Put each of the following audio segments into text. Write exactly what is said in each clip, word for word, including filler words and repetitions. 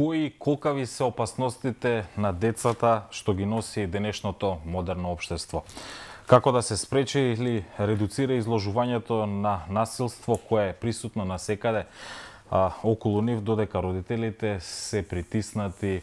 кои колкави се опасностите на децата што ги носи денешното модерно општество? Како да се спречи или редуцира изложувањето на насилство кое е присутно насекаде а, околу нив, додека родителите се притиснати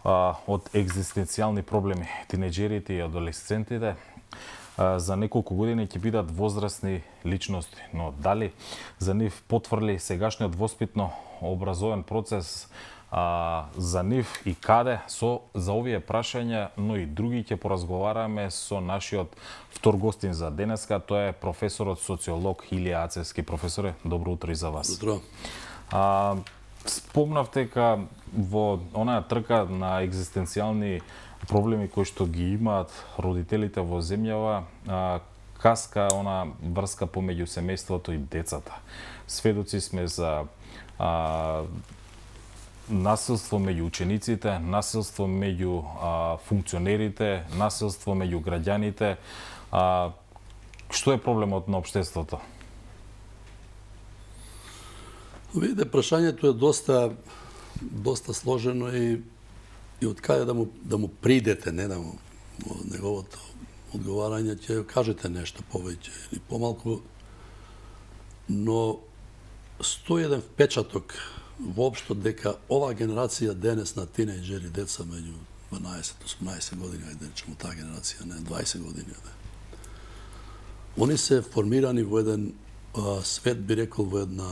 а, од екзистенцијални проблеми. Тинеџерите и адолесцентите а, за неколку години ќе бидат возрастни личности, но дали за нив потврли сегашниот воспитно образовен процес а, за нив и каде? Со за овие прашања, но и други ќе поразговараме со нашиот втор гостин за денеска, тоа е професорот социолог Илија Ацевски. Професоре, добро утро и за вас. Добро. А, спомнавте дека во онаа трка на екзистенцијални проблеми кои што ги имаат родителите во земјава, а, каска она врска помеѓу семејството и децата. Сведоци сме за а, насилство меѓу учениците, насилство меѓу а, функционерите, насилство меѓу граѓаните. А, што е проблемот на општеството? Видите, прашањето е доста доста сложено и и од каде да му да му придете, не да му од неговото одговарање ќе кажете нешто повеќе или помалку, но сто и еден впечаток воопшто дека оваа генерација денес на тинејџери, деца меѓу дванаесет и осумнаесет години, ајде да речеме таа генерација, не дваесет години, не. Они се формирани во еден а, свет, би рекол, во една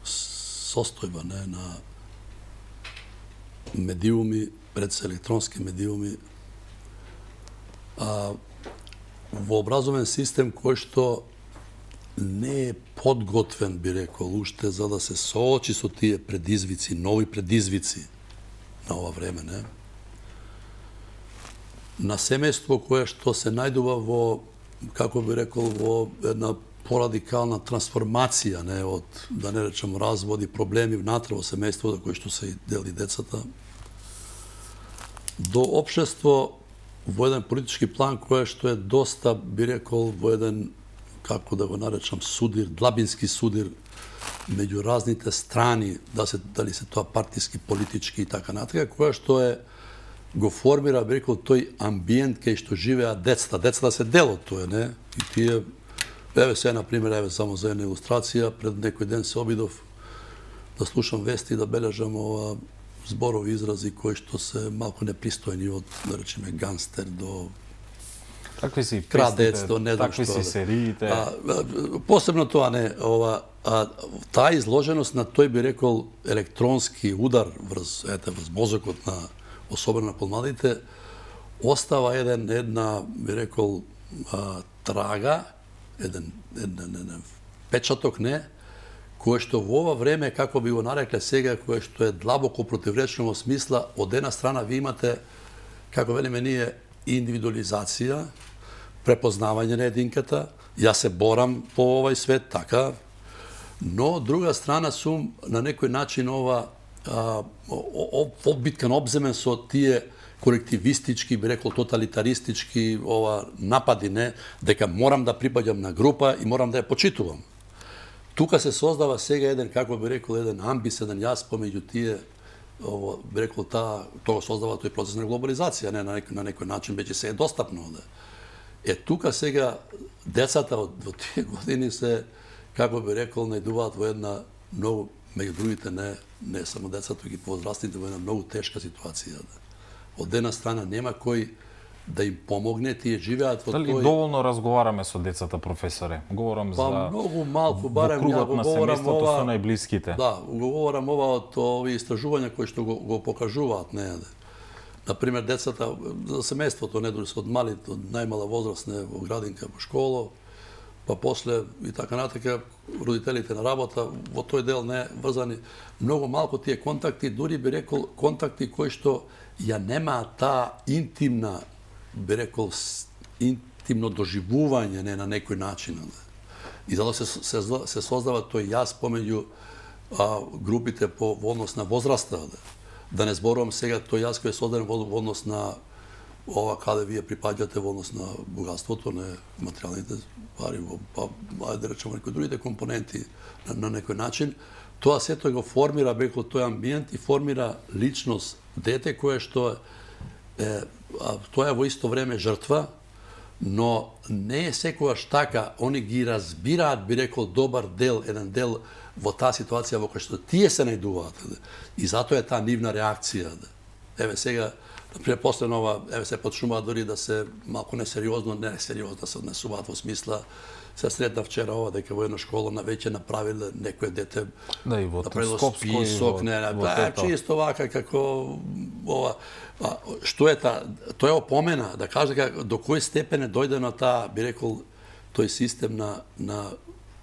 состојба, не, на медиуми, пред се електронски медиуми, а, во образовен систем кој што не е подготвен, би рекол, уште за да се соочи со тие предизвици, нови предизвици на ова време, не? На семејство кое што се најдува во, како би рекол, во една порадикална трансформација, не, од, да не речем, разводи, проблеми внатре во семејството кои што се дели децата, до општество во еден политички план кое што е доста, би рекол, во еден, како да го наречам, судир, длабински судир меѓу разните страни, да се, дали се тоа партиски, политички и така натака, која што е го формира, би рекол, тој амбиент кај што живеат децата. Децата се дел од тоа, не? И тие, еве се, например, еве само за една илустрација, пред некој ден се обидов да слушам вести и да бележам ова зборови изрази кои што се малку непристојни, од, да речеме, гангстер до Такви си крадец, до не знам такви што. си сериите. А, посебно тоа не, ова, а, таа изложеност на тој, би рекол, електронски удар врз, ете, врз мозокот на, особено на помладите, остава еден, една, би рекол, а, трага, еден, еден, еден печаток, не, кој што во ова време, како би го нарекле сега, кој што е длабоко противречно во смисла, од една страна ви имате, како велиме ние, индивидуализација, препознавање на единката, јас се борам по овај свет, така, но од друга страна сум на некој начин ова а, обиткан, обземен со тие колективистички, би рекол тоталитаристички ова напади, не, дека морам да припаѓам на група и морам да ја почитувам. Тука се создава сега еден, како би рекол, еден амбис, еден јас помеѓу тие, ово, би рекол, таа, тоа создава тој процес на глобализација, не, на некој, на некој начин веќе се е достапно. Да. Е, тука сега децата од во тие години се, како би рекол, најдуваат во една многу, меѓу другите, не, не само децата, туку и повозрастните, во една многу тешка ситуација. Да. Од една страна нема кој да им помогне, тие живеат во Дали тој... доволно разговараме со децата, професоре? Говорам па, за многу малку, барем во кругот ја на говорам семејството ова... со најблиските. Да, го говорам ова од овие истражувања кои што го, го покажуваат, не, например, децата за семејството, не дури од малите, од најмала возраст, не, во градинка, во школа, па после и така натака, родителите на работа, во тој дел не врзани, многу малку тие контакти, дури би рекол контакти кои што ја немаат таа интимна, би рекол, интимно доживување, не, на некој начин. Не. И затоа се, се, се создава тој јас помеѓу а, групите по во однос на возраста. Да, да не зборувам сега тој јас кој е создаден во, во однос на ова каде вие припаѓате во однос на богатството, не материјалните пари, па ајде да речеме некои другите компоненти на, на некој начин, тоа сето го формира беко тој амбиент и формира личност дете кое што е, тоа е во исто време жртва, но не е секогаш така. Они ги разбираат, би рекол, добар дел, еден дел во таа ситуација во која што тие се најдуваат. И затоа е таа нивна реакција. Еве сега, например, после нова, еве се почнуваат дори да се малку несериозно, не несериозно да се однесуваат во смисла. Се сретна вчера ова дека во една школа на веќе направиле некој дете да и во Скопско список, не, не, да, чисто вака како ова. А, што е та, тоа е опомена да каже дека до кој степен е дојдено таа, би рекол, тој систем на на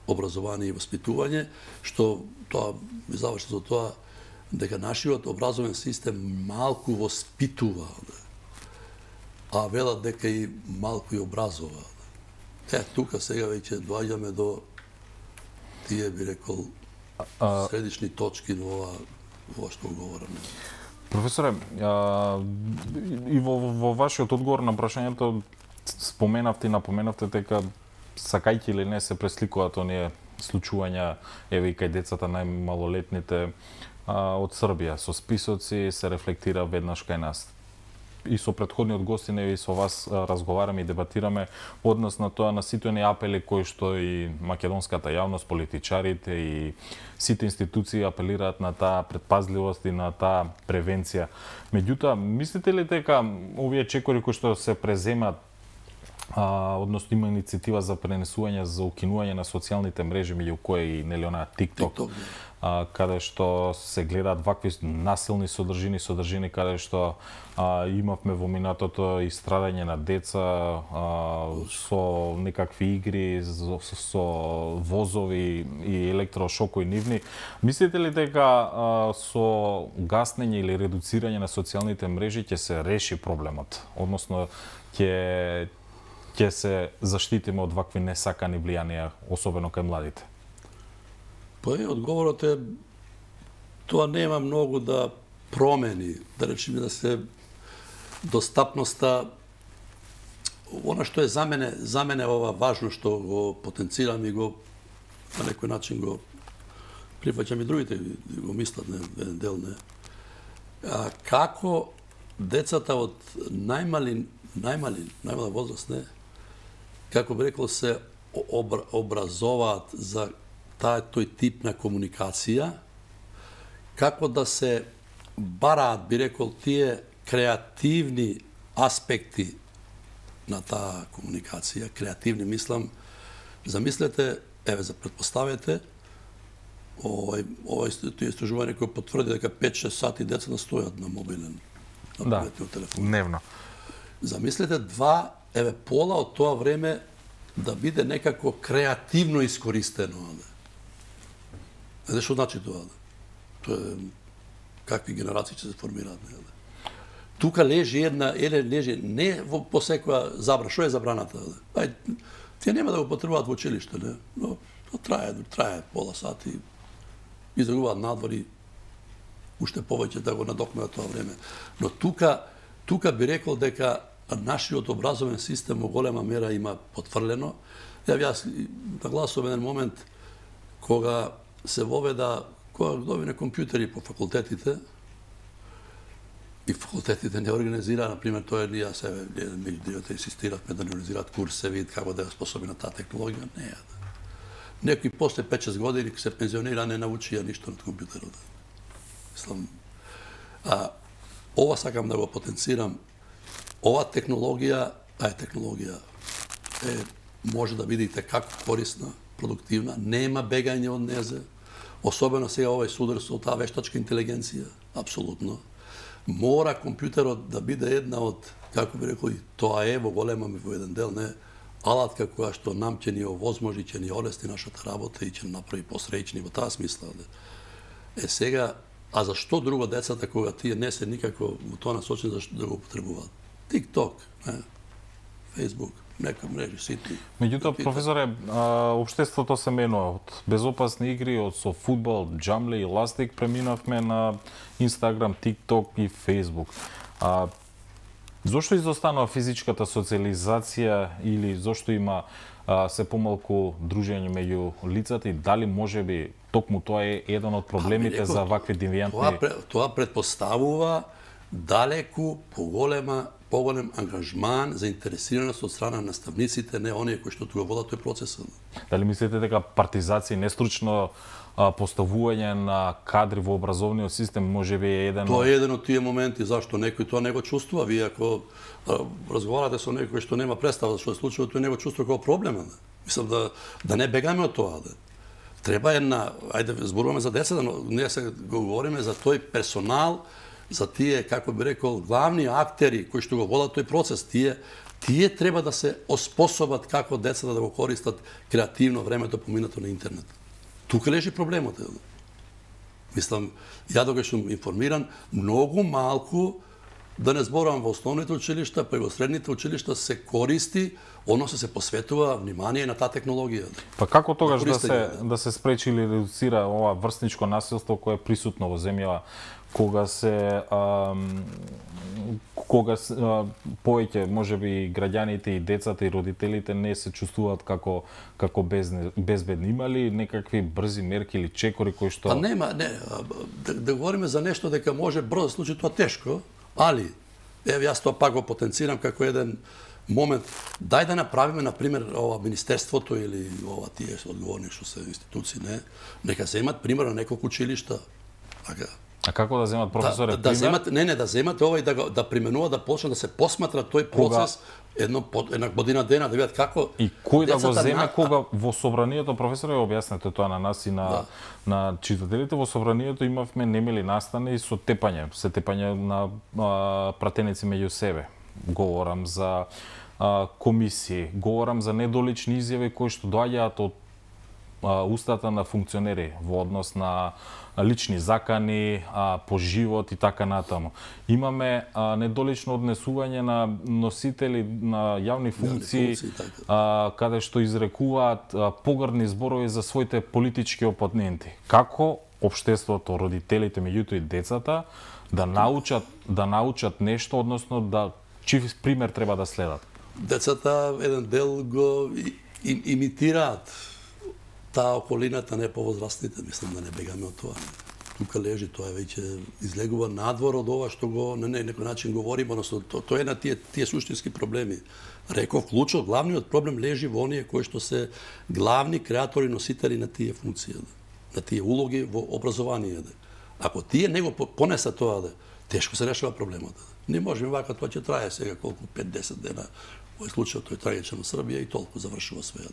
образование и воспитување, што тоа ми заврши за тоа дека нашиот образовен систем малку воспитува, а велат дека и малку и образува. Е, тука сега веќе доаѓаме до тие, би рекол, средични точки на ова, ова што говораме. Професоре, а, и во, во вашиот одговор на прашањето споменавте и напоменавте дека сакајќи или не се пресликуваат оние случувања, еве и кај децата најмалолетните а, од Србија. Со списоци се рефлектира веднаш кај нас. И со претходниот гостин и со вас разговараме и дебатираме однос на тоа, на сите оние апели кои што и македонската јавност, политичарите и сите институции апелираат на таа предпазливост и на таа превенција. Меѓутоа, мислите ли дека овие чекори кои што се преземат, а, односно има иницијатива за пренесување, за укинување на социјалните мрежи, меѓу кои и нели она TikTok, TikTok а, каде што се гледаат вакви насилни содржини, содржини каде што а, имавме во минатото и страдање на деца а, со некакви игри, со, со возови и електрошокови нивни. Мислите ли дека а, со гаснење или редуцирање на социјалните мрежи ќе се реши проблемот? Односно, ќе ќе се заштитиме од вакви несакани влијанија, особено кај младите? Па е, одговорот е, тоа нема многу да промени, да речеме да се достапноста, она што е за мене, за мене ова важно што го потенцирам и го на некој начин го прифаќам и другите го мислат, не, еден дел не. А, како децата од најмали, најмали, најмала возраст, не, како би рекол, се обра, образоваат за таа тој тип на комуникација, како да се бараат, би рекол, тие креативни аспекти на таа комуникација, креативни мислам, замислете, еве, за предпоставете, овој, овој тие истражување кој потврди дека пет-шест сати деца стојат на мобилен, на да, телефон. Дневно. Замислете два, еве, пола од тоа време да биде некако креативно искористено. Знаете што значи тоа? Тоа е какви генерации ќе се формираат. Не? Тука лежи една, еле лежи не во по секоја забрана. Што е забраната? Ај, тие нема да го потребуваат во училиште, не? Но тоа трае, трае пола сати. Излегуваат надвор и уште повеќе да го надокнат тоа време. Но тука, тука би рекол дека нашиот образовен систем во голема мера има потврлено. Ја јас нагласувам еден момент кога се воведа, кога добине компјутери по факултетите, и факултетите не организира, например, тоа е ние себе, меѓу другите инсистиравме да не организираат курсеви, како да е способи на таа технологија, не е. Некои после пет-шест години се пензионира, не научија ништо на компјутерот. Мислам, а, ова сакам да го потенцирам. Ова технологија, таа технологија е, може да биде како корисна, продуктивна, нема бегање од незе, особено сега овој судар со таа вештачка интелигенција, апсолутно. Мора компјутерот да биде една од, како би рекол, тоа е во голема ми во еден дел, не, алатка која што нам ќе ни овозможи, ќе ни олести нашата работа и ќе ни направи посреќни во таа смисла. Е сега, а зашто друго децата кога тие не се никако во тоа насочени, зашто да го употребуваат? TikTok, не, Facebook, нека мрежи ситни. Меѓутоа, професоре, општеството се менува од безопасни игри, од со фудбал, джамли и ластик, преминавме на Instagram, TikTok и Facebook. А, Зошто изостанува физичката социализација или зошто има а, се помалку дружење меѓу лицата и дали можеби токму тоа е еден од проблемите за вакви девијантни... Тоа, тоа предпоставува далеку поголема поголем ангажман, заинтересираност од страна на наставниците, не оние кои што го водат тој процес. Дали мислите дека партизација и нестручно а, поставување на кадри во образовниот систем можеби е еден... Тоа е еден од тие моменти зашто некој тоа не го чувствува. Вие ако а, разговарате со некој што нема представа што се случува, тој не го чувствува како проблем. Да. Мислам да да не бегаме од тоа. Да. Треба една, ајде зборуваме за децата, но ние се го говориме за тој персонал, за тие, како би рекол, главни актери кои што го водат тој процес. Тие тие треба да се оспособат како децата да го користат креативно времето поминато на интернет. Тука лежи проблемот. Мислам, ја докога сум информиран, многу малку, да не зборувам во основните училишта, па и во средните училишта се користи, односно се посветува внимание на таа технологија. Па како тогаш да се да се спречи или редуцира ова врсничко насилство кое е присутно во земјава, кога се а, кога се, а, повеќе можеби граѓаните и децата и родителите не се чувствуваат како како безне, безбедни, имали некакви брзи мерки или чекори кои што... Па нема, не, да, да говориме за нешто дека може брзо да случи, тоа тешко, али еве јас тоа пак го потенцирам како еден момент. Дај да направиме, на пример, ова министерството или ова тие одговорни што се институции, не, нека земат пример на неколку училишта. Така. А како да земат професоре? Да, да земат, не, не, да земат ова и да да применува, да почнат да се посматра тој процес кога... едно една година дена, да видат како и кој да го земе на... кога во собранието, професоре, објаснете тоа на нас и на да. на читателите, во собранието имавме немили настани со тепање, се тепање на а, пратеници меѓу себе. Говорам за а, комисии, говорам за недолични изјави кои што доаѓаат од а, устата на функционери во однос на лични закани, а, по живот и така натаму. Имаме а, недолично однесување на носители на јавни функции, функции така. а, каде што изрекуваат а, погрдни зборови за своите политички опоненти. Како општеството, родителите, меѓуто и децата да научат да научат нешто, односно да чив пример треба да следат? Децата еден дел го им, имитираат таа околината, не повозрастните, мислам да не бегаме од тоа. Тука лежи, тоа веќе излегува надвор од ова што го на некој начин говориме, односно тоа то е на тие тие суштински проблеми. Реков, клучот, главниот проблем лежи во оние кои што се главни креатори, носители на тие функции, на тие улоги во образование. Ако тие него понесат тоа, да, тешко се решава проблемот. Не можеме вака, тоа ќе трае сега колку пет-десет дена. Во случајот тој трагичен во Србија и толку завршува све.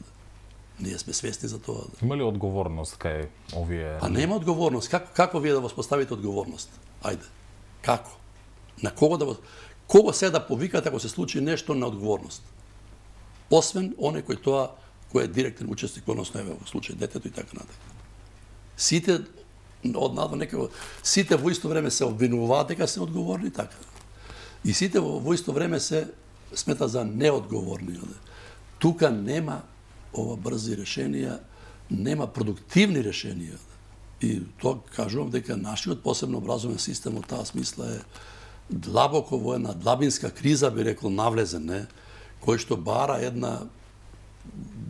Ние сме свесни за тоа. Има ли одговорност кај овие? А нема одговорност. Како како вие да воспоставите одговорност? Ајде. Како? На кого да кого се да повикате ако се случи нешто на одговорност? Освен оне кој тоа кој е директен учесник, односно еве во случај детето и така натаму. Сите однадва некако сите во исто време се обвинуваат дека се одговорни така. И сите во, во исто време се смета за неодговорни. Тука нема ова брзи решенија, нема продуктивни решенија. И тоа кажувам дека нашиот посебно образовен систем од таа смисла е длабоко во една длабинска криза, би рекол, навлезен, не? Кој што бара една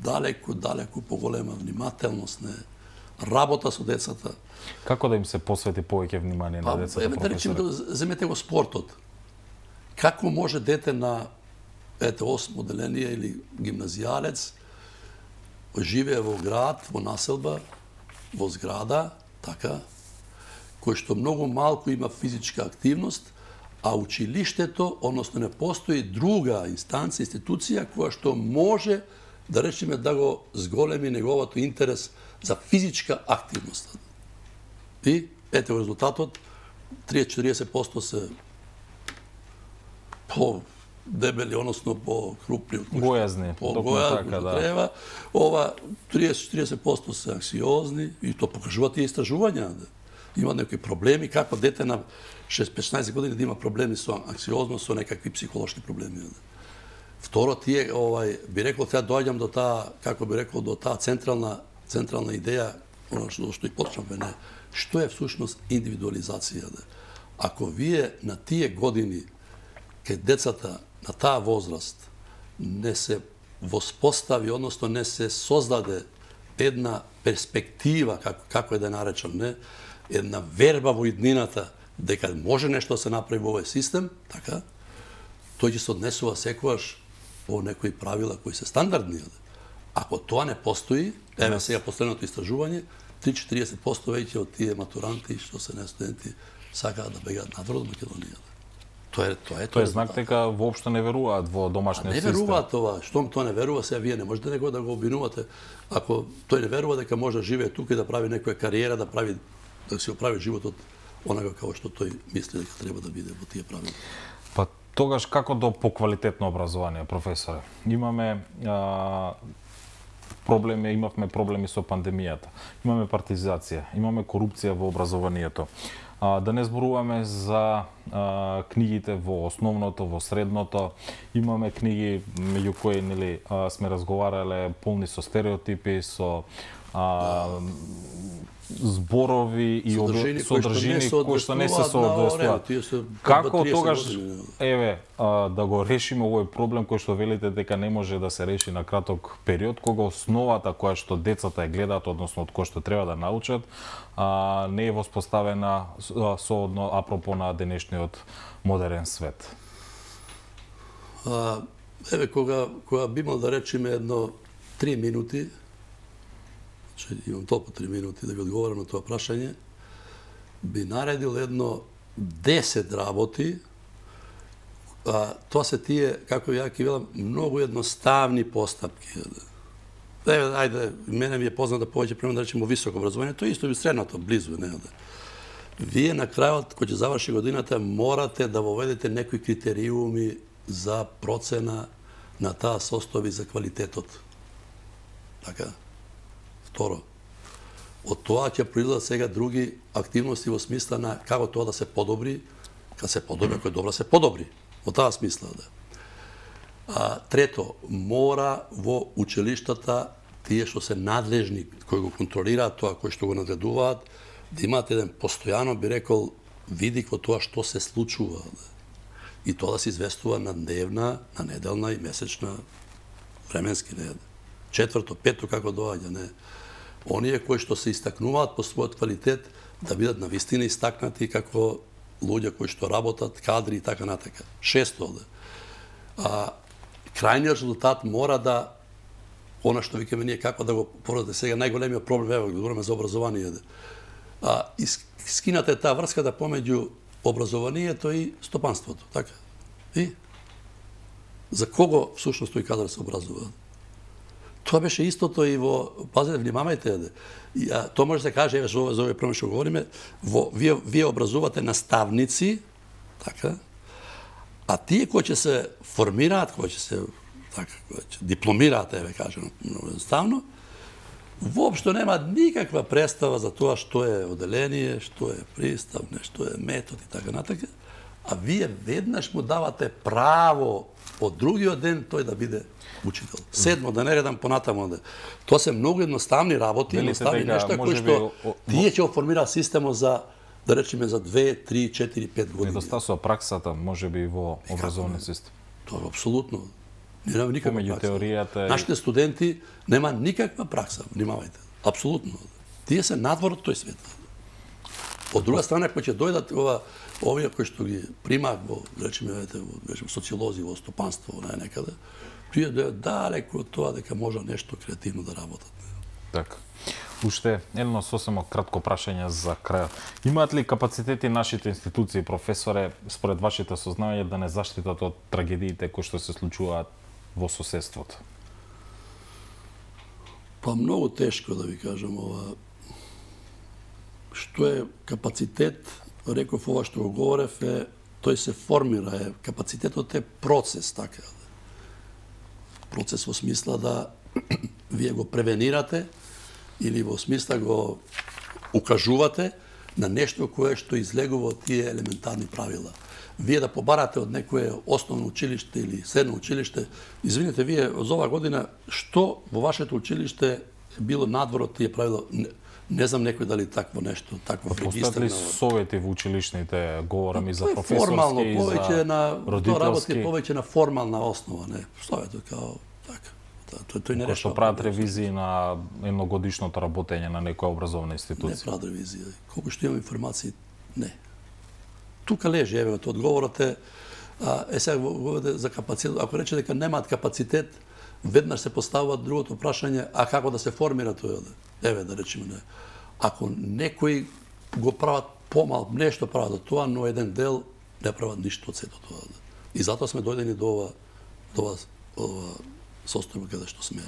далеку, далеку поголема внимателност, не? Работа со децата. Како да им се посвети повеќе внимание на децата, професоре? Да речеме, земете го спортот. Како може дете на ете осмо одделение или гимназијалец живее во град, во населба, во зграда, така, кој што многу малку има физичка активност, а училиштето, односно не постои друга инстанција, институција која што може да речеме да го зголеми неговото интерес за физичка активност. И ете во резултатот триесет до четириесет проценти се по дебели, односно по крупни од гојазни, по гојазни, така, да. Треба. Ова триесет до четириесет проценти се анксиозни и тоа покажуваат тие истражувања. Да. Има некои проблеми, како дете на шеснаесет години да има проблеми со анксиозност, со некакви психолошки проблеми. Да. Второ, тие, овај, би рекол, сега доаѓам до таа, како би рекол, до таа централна централна идеја, оно што, што и почнавме, не, што е всушност индивидуализација. Да. Ако вие на тие години кај децата на таа возраст не се воспостави, односно не се создаде една перспектива, како, како е да наречам, не, една верба во иднината, дека може нешто да се направи во овој систем, така, тој ќе се однесува секогаш по некои правила кои се стандардни. Ако тоа не постои, еве сега последното истражување, три до четириесет проценти веќе од тие матуранти што се не студенти сакаат да бегаат надвор од Македонија. Тоа е тоа е тоа е знак дека воопшто не веруваат во домашниот систем. Не веруваат това, штом тоа не верува, сега вие не можете него да го обвинувате. Ако тој не верува дека може да живее тука и да прави некоја кариера, да прави да си оправи животот онага како што тој мисли дека треба да биде во тие правила. Па тогаш како до поквалитетно образование, професоре? Имаме а, проблеми, имавме проблеми со пандемијата. Имаме партизација, имаме корупција во образованието. А, да не зборуваме за а, книгите во основното, во средното. Имаме книги меѓу кои нели а, сме разговарале полни со стереотипи, со а, зборови и содржини, содржини кои што не се соодветствуваат. Како тогаш еве а, да го решиме овој проблем кој што велите дека не може да се реши на краток период, кога основата која што децата е гледаат, односно од која што треба да научат, а, не е воспоставена соодно апропо на денешниот модерен свет. А, еве кога кога би имал да речеме едно три минути, че имам толку три минути да ви одговорам на тоа прашање, би наредил едно десет работи, а, тоа се тие, како ја ќе велам, многу едноставни постапки. Еве, ајде, мене ми е познато повеќе пример да речеме во високо образование, тоа исто би средното, близу, не да. Вие на крајот, кој ќе заврши годината, морате да воведете некои критериуми за процена на таа состојба за квалитетот. Така? Второ, од тоа ќе произлезат сега други активности во смисла на како тоа да се подобри, кога се подобри, ако е добра, се подобри. Во таа смисла, да. А, трето, мора во училиштата тие што се надлежни, кои го контролираат тоа, кои што го надредуваат, да имаат еден постојано, би рекол, видик во тоа што се случува. Да. И тоа да се известува на дневна, на неделна и месечна, временски, не. Четврто, пето, како доаѓа, не. Оние кои што се истакнуваат по својот квалитет да бидат навистина истакнати како луѓе кои што работат, кадри и така натака. Шесто, да. А, крајниот резултат мора да, она што викаме ние како да го породите сега, најголемиот проблем, ево, говориме за образование, да. А, скината е таа врска да помеѓу образованието и стопанството, така. И за кого всушност тој кадар се образува? Тоа беше истото и во, пазете, внимавајте, и, а, тоа може да се каже, еве, за овој проблем што говориме, во, вие, вие образувате наставници, така, а тие кои ќе се формираат, кои ќе се, така, кои ќе дипломираат, еве, кажем, едноставно, воопшто немаат никаква представа за тоа што е оделение, што е приставне, што е метод и така натака, а вие веднаш му давате право од другиот ден тој да биде учител. Седмо, да не редам понатамо. Да. Тоа се многу едноставни работи, едноставни нешта кои што тие ќе оформираат системот за, да речеме, за две, три, четири, пет години. Недостасува праксата, може би, во образовниот систем. Тоа е апсолутно. Нема никаква Помеѓу пракса. теоријата... Нашите студенти нема никаква пракса, внимавајте. Апсолутно. Тие се надвор од тој свет. Од друга страна, кои ќе дојдат ова, овие кои што ги примаат во, речеме, во, речеме, социолози, во стопанство, не некаде, тие да далеку од тоа дека може нешто креативно да работат. Така. Уште едно сосема кратко прашање за крајот. Имаат ли капацитети нашите институции, професоре, според вашите сознавања, да не заштитат од трагедиите кои што се случуваат во соседството? Па многу тешко да ви кажам ова. Што е капацитет, реков ова што го говорев, е, тој се формира, е, капацитетот е процес, така. Процес во смисла да вие го превенирате или во смисла го укажувате на нешто кое што излегува од тие елементарни правила. Вие да побарате од некое основно училиште или средно училиште, извините, вие за оваа година што во вашето училиште било надвор од тие правила? Не знам некој дали такво нешто, такво регистар. Постојат ли совети во училишните, говорам и за професорски и за на, родителски? Тоа работи повеќе на формална основа, не. Советот као така. Тој тој не решава. Кој што прават ревизии на едногодишното работење на некоја образовна институција. Не прават ревизија. Колку што имам информации, не. Тука лежи, еве, одговорот е, а, е сега говорите за капацитет. Ако рече дека немаат капацитет, веднаш се поставува другото прашање, а како да се формира тој? Еве, да речеме, не. Ако некои го прават помал, нешто прават од тоа, но еден дел не прават ништо од сето тоа. И затоа сме дојдени до ова, до ова, ова состојба каде што сме.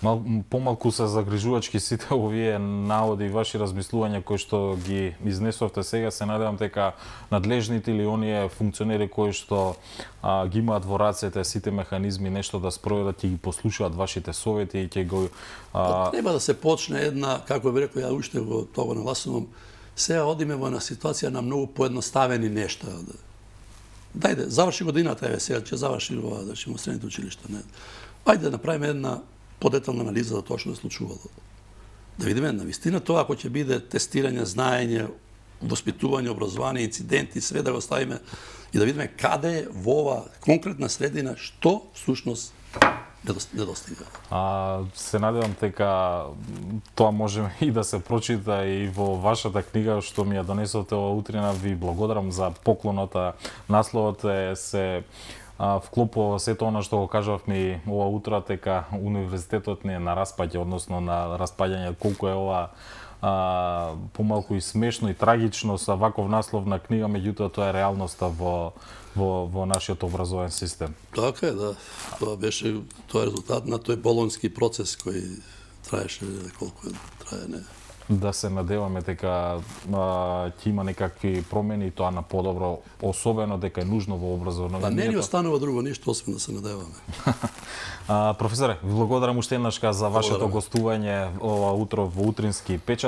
Мал, помалку се загрижувачки сите овие наводи и ваши размислувања кои што ги изнесовте сега. Се надевам дека надлежните или оние функционери кои што а, ги имаат во рацете сите механизми нешто да спроведат и ги послушаат вашите совети и ќе го... А... Треба да се почне една, како би рекол, ја уште во тоа нагласувам, сега одиме во една ситуација на многу поедноставени нешта. Дајде, заврши годината, еве сега ќе заврши во да во средните училишта, не. Ајде да направиме една подетална анализа за тоа што се случувало. Да видиме на вистина тоа ако ќе биде тестирање, знаење, воспитување, образование, инциденти, све да го ставиме и да видиме каде во ова конкретна средина што всушност недостига. А се надевам дека тоа може и да се прочита и во вашата книга што ми ја донесовте ова утрина. Ви благодарам за поклоната. Насловот е се вклопува сето она што го кажавме ова утро, дека универзитетот не е на распаѓање, односно на распаѓање. Колку е ова а, помалку и смешно и трагично со ваков наслов на книга, меѓутоа тоа е реалноста во во во нашиот образовен систем. Така е, да. Тоа беше тоа е резултат на тој болонски процес кој траеше колку трае, не. Да се надеваме дека ќе има некакви промени, тоа на подобро, особено дека е нужно во образованието. Па не ни останува друго ништо освен да се надеваме. а, професоре, ви благодарам уште еднаш за вашето гостување ова утро во Утрински печат.